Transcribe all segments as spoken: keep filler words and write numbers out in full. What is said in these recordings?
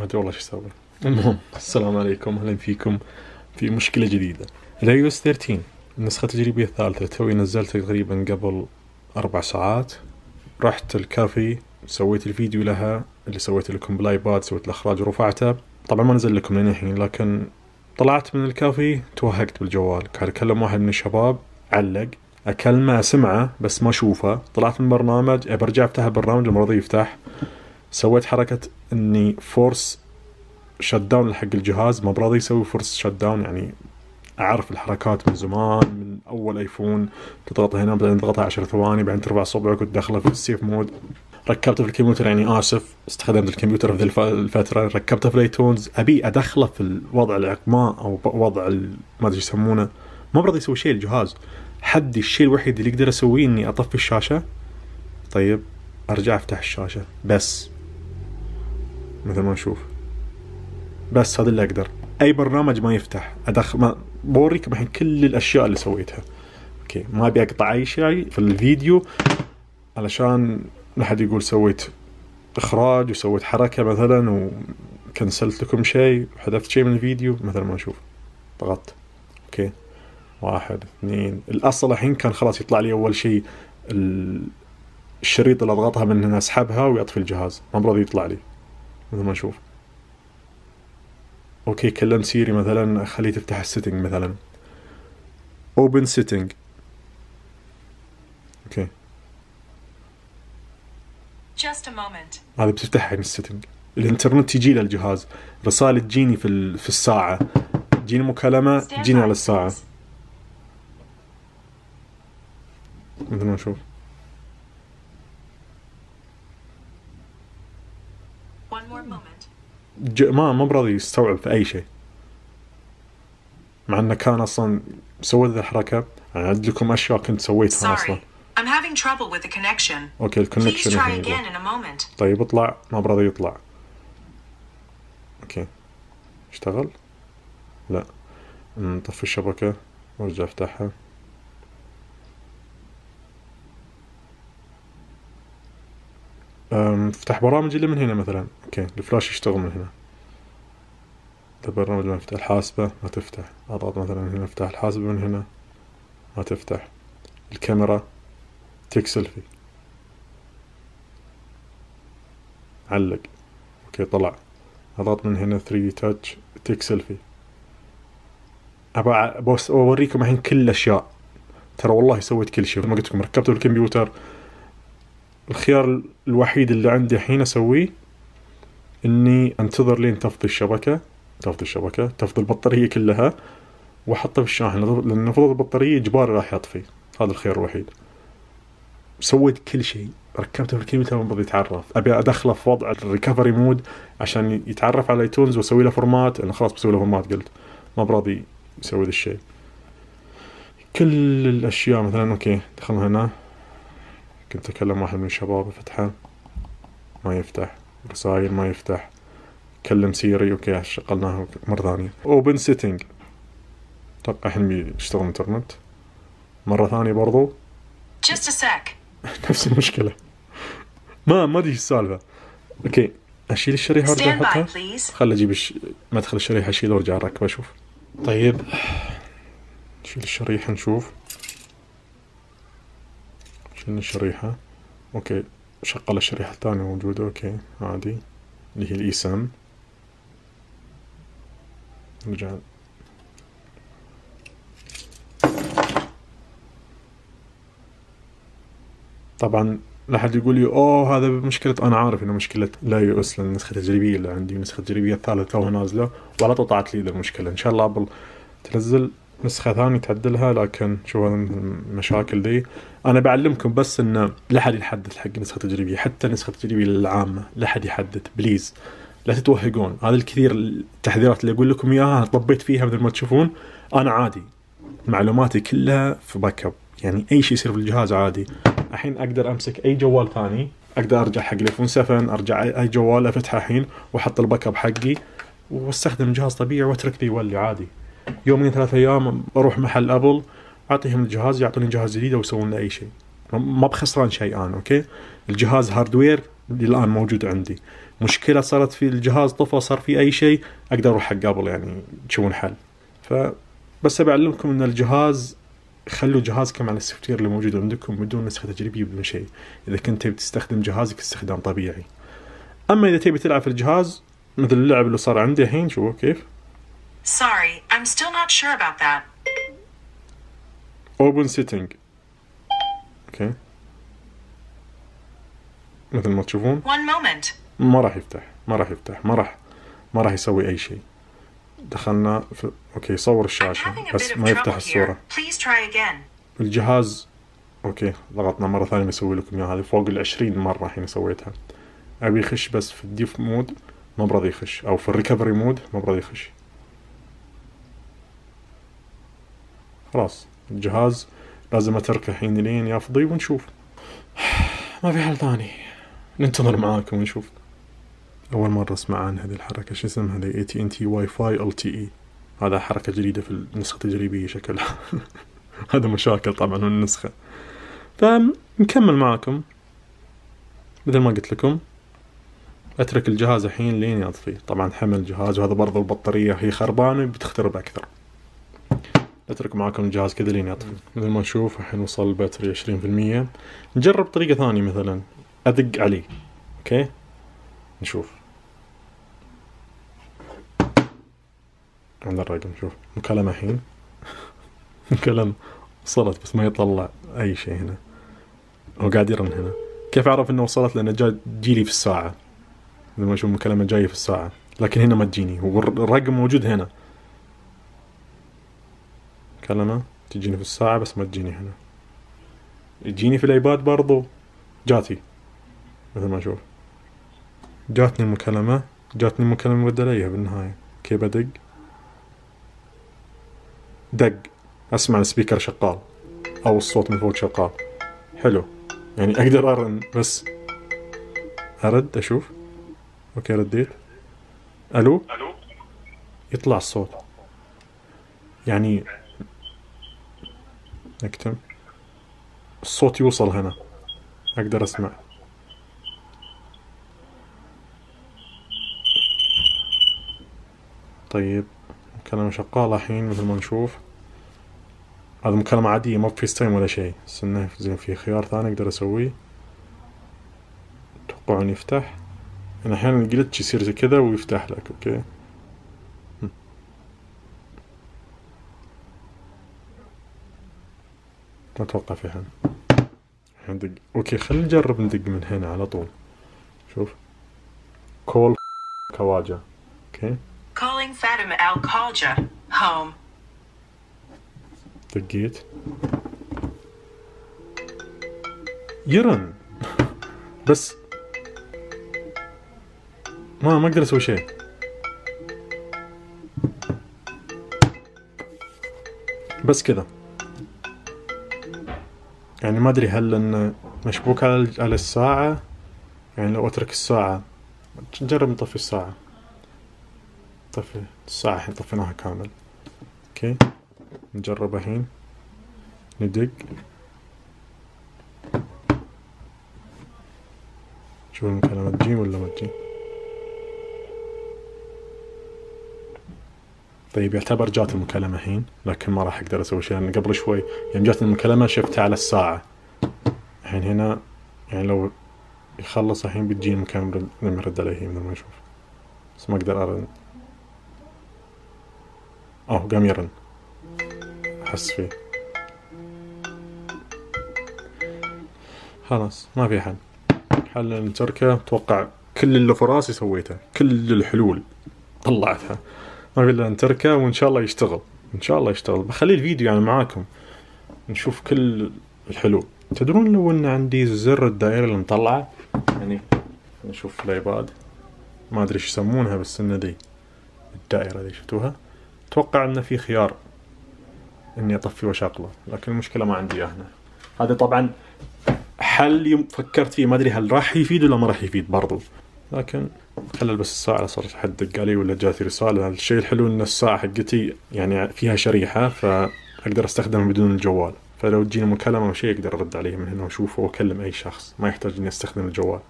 أدري والله شو أسوي. المهم السلام عليكم، أهلا فيكم في مشكلة جديدة. الاي او اس ثلاثة عشر النسخة التجريبية الثالثة توي نزلتها تقريبا قبل أربع ساعات. رحت الكافي سويت الفيديو لها اللي سويت لكم بالايباد، سويت الإخراج ورفعته. طبعا ما نزل لكم لين الحين، لكن طلعت من الكافي توهقت بالجوال. قاعد أكلم واحد من الشباب، علق أكلمه أسمعه بس ما أشوفه. طلعت من برنامج برجع أفتح البرنامج لما رضي يفتح. سويت حركة إني فورس شت داون حق الجهاز، ما براضي يسوي فورس شت داون. يعني أعرف الحركات من زمان، من أول آيفون تضغط هنا بعدين تضغطها عشر ثواني بعدين ترفع صبعك وتدخله في السيف مود. ركبته في الكمبيوتر، يعني آسف استخدمت الكمبيوتر في ذي الفترة، ركبته في الايتونز أبي أدخله في الوضع الإعقماء أو وضع ما أدري يسمونه، ما براضي يسوي شيء الجهاز. حدي الشيء الوحيد اللي يقدر أسويه إني أطفي الشاشة. طيب أرجع أفتح الشاشة بس مثل ما نشوف، بس هذا اللي أقدر. أي برنامج ما يفتح أدخل. ما بوريكم الحين كل الأشياء اللي سويتها. أوكي ما أبي أقطع أي شيء في الفيديو علشان لا حد يقول سويت إخراج وسويت حركة مثلا وكنسلت لكم شيء وحذفت شيء من الفيديو. مثلا ما نشوف ضغطت أوكي واحد اثنين، الأصل الحين كان خلاص يطلع لي أول شيء الشريط اللي أضغطها من هنا أسحبها ويطفي الجهاز، ما براضي يطلع لي. مثل ما نشوف اوكي كلمت سيري مثلا خليه تفتح السيتنج مثلا open setting. اوكي just a moment. هذا بتفتح من السيتنج. الانترنت يجي للجهاز، رسالة تجيني في في الساعة، تجيني مكالمة تجيني على الساعة. مثل ما نشوف one more moment. ج... ما ما براضي يستوعب في أي شيء، مع أنه كان أصلا سويت ذا الحركة. أنا أعد لكم أشياء كنت سويتها أصلا. I'm having trouble with the connection. أوكي الكونكشن. Please try again in a moment. طيب اطلع، ما براضي يطلع. أوكي اشتغل؟ لا. نطفي الشبكة وارجع افتحها. افتح برامج اللي من هنا مثلا. اوكي الفلاش يشتغل من هنا. البرنامج ما يفتح. الحاسبة ما تفتح. اضغط مثلا هنا افتح الحاسبة من هنا ما تفتح. الكاميرا تيك سيلفي علق. اوكي طلع. اضغط من هنا ثري دي تاتش تيك سيلفي. ابى بس اوريكم الحين كل الاشياء، ترى والله سويت كل شيء. ما قلت لكم ركبته الكمبيوتر. الخيار الوحيد اللي عندي الحين اسويه اني انتظر لين تفضي الشبكة، تفضي الشبكة تفضي البطارية كلها واحطه في الشاحن، لان فضل البطارية اجباري راح يطفي. هذا الخيار الوحيد. سويت كل شيء، ركبته في الكمبيوتر ما بدي يتعرف. ابي ادخله في وضع الريكفري مود عشان يتعرف على ايتونز واسوي له فورمات. انا خلاص بسوي له فورمات، قلت ما براضي يسوي ذا الشيء. كل الاشياء مثلا اوكي دخلنا هنا، كنت اكلم واحد من الشباب فتحه ما يفتح، رسائل ما يفتح، كلم سيري اوكي شغلناها مرة ثانية. اوبن سيتنج اتوقع الحين بيشتغل انترنت مرة ثانية برضو. just a sec. نفس المشكلة. ما ما ادري ايش السالفة. اوكي اشيل الشريحة وارجع احطها. خل اجيب الش... مدخل الشريحة اشيله وارجع اركبه اشوف. طيب نشيل الشريحة نشوف. شيلنا الشريحة اوكي شغل الشريحة الثانية موجودة اوكي عادي اللي هي الاي سام. نرجع طبعا لا حد يقول لي اوه هذا مشكلة. انا عارف انه مشكلة لا يو اس لان النسخة التجريبية اللي عندي النسخة التجريبية الثالثة توها نازلة ولا طلعت لي المشكلة. ان شاء الله ابل تنزل نسخة ثانية تعدلها، لكن شو المشاكل دي. أنا بعلمكم بس إنه لا حد يحدث حق نسخة تجريبية، حتى نسخة تجريبية العامة لا حد يحدث بليز، لا تتوهقون. هذا الكثير التحذيرات اللي أقول لكم إياها طبيت فيها مثل ما تشوفون. أنا عادي معلوماتي كلها في باك اب، يعني أي شيء يصير في الجهاز عادي. الحين أقدر أمسك أي جوال ثاني، أقدر أرجع حق الآيفون سفن، أرجع أي جوال أفتحه الحين وأحط الباك اب حقي واستخدم الجهاز طبيعي وأترك ذي يولي عادي. يومين ثلاثة أيام أروح محل أبل أعطيهم الجهاز يعطوني جهاز جديد ويسوون له أي شيء، ما بخسران شيء أنا. أوكي الجهاز هاردوير اللي الآن موجود عندي مشكلة صارت في الجهاز، طفى، صار في أي شيء، أقدر أروح حق قبل يعني تشوفون حل. فبس بعلمكم أن الجهاز خلوا جهازكم على السوفت وير اللي موجود عندكم بدون نسخة تجريبية بدون شيء، إذا كنت بتستخدم جهازك استخدام طبيعي. أما إذا تبي تلعب في الجهاز مثل اللعب اللي صار عندي الحين، شوفوا كيف. Sorry, I'm still not sure about that. Open setting. اوكي. مثل ما تشوفون. One moment. ما راح يفتح، ما راح يفتح، ما راح ما راح يسوي أي شيء. دخلنا في اوكي صور الشاشة بس ما يفتح الصورة. Please try again. الجهاز اوكي ضغطنا مرة ثانية بيسوي لكم اياها، هذه فوق العشرين مرة الحين سويتها. ابي يخش بس في الديف مود ما برضى يخش، او في الريكفري مود ما برضى يخش. خلاص الجهاز لازم اتركه الحين لين يفضي ونشوف. ما في حل ثاني، ننتظر معاكم ونشوف. اول مرة اسمع عن هذه الحركة، شو اسمها هذه؟ إيه تي إن تي واي فاي إل تي إي. هذا حركة جديدة في النسخة التجريبية شكلها. هذا مشاكل طبعا من النسخة. فنكمل معاكم مثل ما قلت لكم. اترك الجهاز الحين لين يطفي. طبعا حمل الجهاز، وهذا برضو البطارية هي خربانة بتخترب اكثر. اترك معاكم الجهاز كذا لين يطفي. مثل ما نشوف الحين وصل الباتري عشرين في المية. نجرب طريقة ثانية، مثلا ادق عليه. اوكي نشوف عند الرقم. شوف مكالمة الحين. مكالمة وصلت بس ما يطلع اي شيء هنا، هو قاعد يرن هنا. كيف اعرف انه وصلت؟ لانه جاي تجيلي في الساعة. لما اشوف مكالمة جاية في الساعة لكن هنا ما تجيني، هو الرقم موجود هنا. مكالمة تجيني في الساعة بس ما تجيني هنا. تجيني في الايباد برضو جاتي مثل ما اشوف. جاتني المكالمة، جاتني المكالمة مرد عليها بالنهاية. كيف بدق؟ دق، اسمع السبيكر شغال او الصوت من فوق شغال. حلو، يعني اقدر ارن بس ارد اشوف. اوكي رديت. الو الو يطلع الصوت، يعني اكتم الصوت يوصل هنا اقدر اسمع. طيب مكالمة شغالة الحين مثل ما نشوف. هذا مكالمة عادية ما بفيس تايم ولا شيء. استنى زين في خيار ثاني اقدر اسويه. اتوقع ان يفتح. انا احيانا الجلتش يصير زي كذا ويفتح لك. اوكي ما اتوقع في حل. ندق. اوكي خلينا نجرب ندق من هنا على طول. شوف كول كواجا. اوكي Calling Fatima Al Khalja. Home. دقيت يرن بس ما ما اقدر اسوي شيء. بس كذا يعني ما ادري هل انه مشبوك على على الساعة. يعني لو اترك الساعة نجرب نطفي الساعة. طفي الساعة الحين طفيناها كامل. اوكي نجرب الحين ندق. شوف المكالمة تجي ولا ما تجي. طيب يعتبر جات المكالمة الحين لكن ما راح اقدر اسوي شيء لان قبل شوي يوم جات المكالمة شفتها على الساعة. الحين هنا يعني لو يخلص الحين بتجي المكالمة لما يرد عليه مثل ما نشوف، بس ما اقدر ارن. اوه قام يرن احس فيه. خلاص ما في حل. حل نتركه. اتوقع كل اللي في راسي سويته، كل الحلول طلعتها. ما في الا نتركه وان شاء الله يشتغل. ان شاء الله يشتغل. بخلي الفيديو يعني معاكم نشوف كل الحلول. تدرون لو ان عندي زر الدائرة اللي مطلعه، يعني نشوف الايباد ما ادري ايش يسمونها بس انه دي الدائرة دي شفتوها. اتوقع انه في خيار اني اطفي واشغله لكن المشكلة ما عندي هنا. هذا طبعا حل يوم فكرت فيه، ما ادري هل راح يفيد ولا ما راح يفيد برضو، لكن خلل بس الساعة صارت حد دق علي ولا جاتي رسالة. الشيء الحلو ان الساعة حقتي يعني فيها شريحة فاقدر استخدمها بدون الجوال، فلو تجيني مكالمة او شيء اقدر ارد عليه من هنا واشوفه واكلم اي شخص، ما يحتاج اني استخدم الجوال.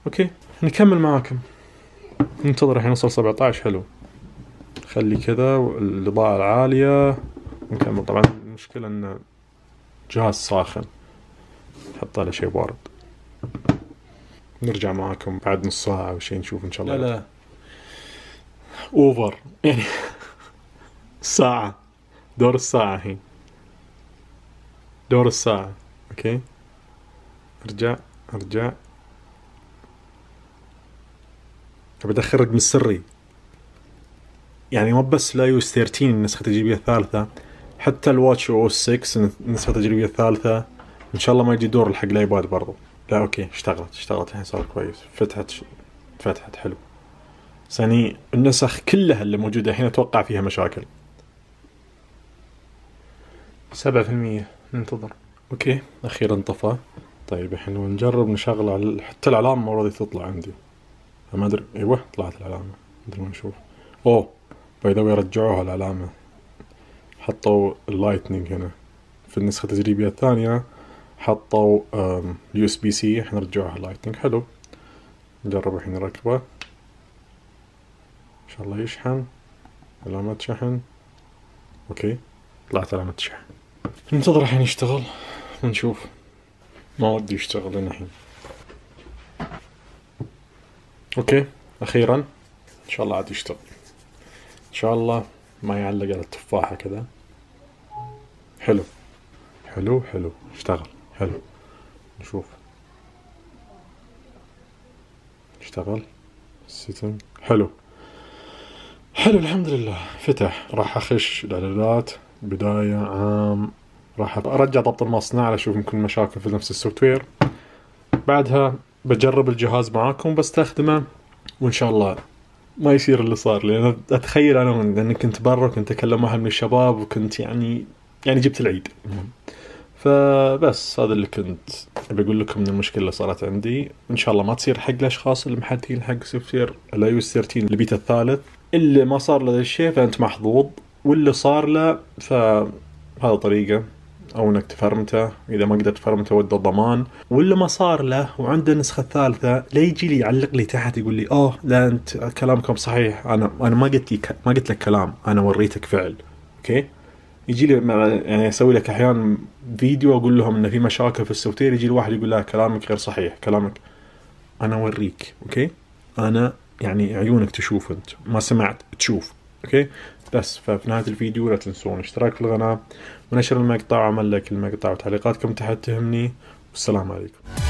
اوكي نكمل معاكم. ننتظر الحين نوصل سبعة عشر. حلو، خلي كذا الإضاءة العالية ونكمل. طبعا المشكلة إن جهاز ساخن، حط له شيء بارد. نرجع معاكم بعد نص ساعة أو شيء نشوف إن شاء الله. لا لا أوفر يعني ساعة، دور الساعة الحين، دور الساعة. أوكي ارجع ارجع أبي أدخل رقم السري. يعني مو بس لا يوز ثلاثة عشر النسخة التجريبية الثالثة، حتى الواتش او اس ستة النسخة التجريبية الثالثة ان شاء الله ما يجي دور الحق الايباد برضو. لا اوكي اشتغلت اشتغلت الحين صار كويس، فتحت فتحت حلو. ثاني النسخ كلها اللي موجودة الحين اتوقع فيها مشاكل. سبعة في المية ننتظر. اوكي اخيرا طفى. طيب الحين نجرب نشغل على حتى العلامة ما راضي تطلع عندي، ما ادري. ايوه طلعت العلامة، ندري ما نشوف. اوه باي ذا واي رجعوها العلامة، حطوا اللايتنينج هنا. في النسخة التجريبية الثانية حطوا يو اس بي سي، احنا رجعوها اللايتنينج. حلو نجرب الحين نركبه ان شاء الله يشحن. علامة شحن. اوكي طلعت علامة شحن. ننتظر الحين يشتغل ونشوف. ما ودي يشتغل لنا الحين. اوكي اخيرا ان شاء الله عاد يشتغل ان شاء الله، ما يعلق على التفاحة كذا. حلو حلو حلو اشتغل. حلو نشوف اشتغل سيتنج. حلو حلو الحمد لله فتح. راح اخش الاعدادات بداية عام، راح ارجع ضبط المصنع اشوف يمكن مشاكل في نفس السوفت وير. بعدها بجرب الجهاز معاكم بستخدمه وان شاء الله ما يصير اللي صار. لان اتخيل انا لاني كنت برا كنت اكلم واحد من الشباب وكنت يعني يعني جبت العيد. فبس هذا اللي كنت ابي اقول لكم من المشكله اللي صارت عندي. ان شاء الله ما تصير حق الاشخاص اللي محدثين حق سوفت وير الاي او اس ثلاثة عشر البيتا الثالث. اللي ما صار له ذا الشيء فانت محظوظ، واللي صار له فهذا طريقه، او انك تفرمته. اذا ما قدرت تفرمته ود الضمان. واللي ما صار له وعنده النسخه الثالثه لا يجي لي يعلق لي تحت يقول لي اوه لا انت كلامكم صحيح، انا انا ما قلت لك ما قلت لك كلام، انا وريتك فعل. اوكي يجي لي يعني اسوي لك احيانا فيديو اقول لهم ان في مشاكل في السوفت وير، يجي الواحد يقول لا كلامك غير صحيح، كلامك انا اوريك. اوكي انا يعني عيونك تشوف، انت ما سمعت تشوف. اوكي بس ففي نهاية الفيديو لا تنسون الاشتراك في القناة ونشر المقطع وعمل لايك المقطع وتعليقاتكم تحت تهمني. والسلام عليكم.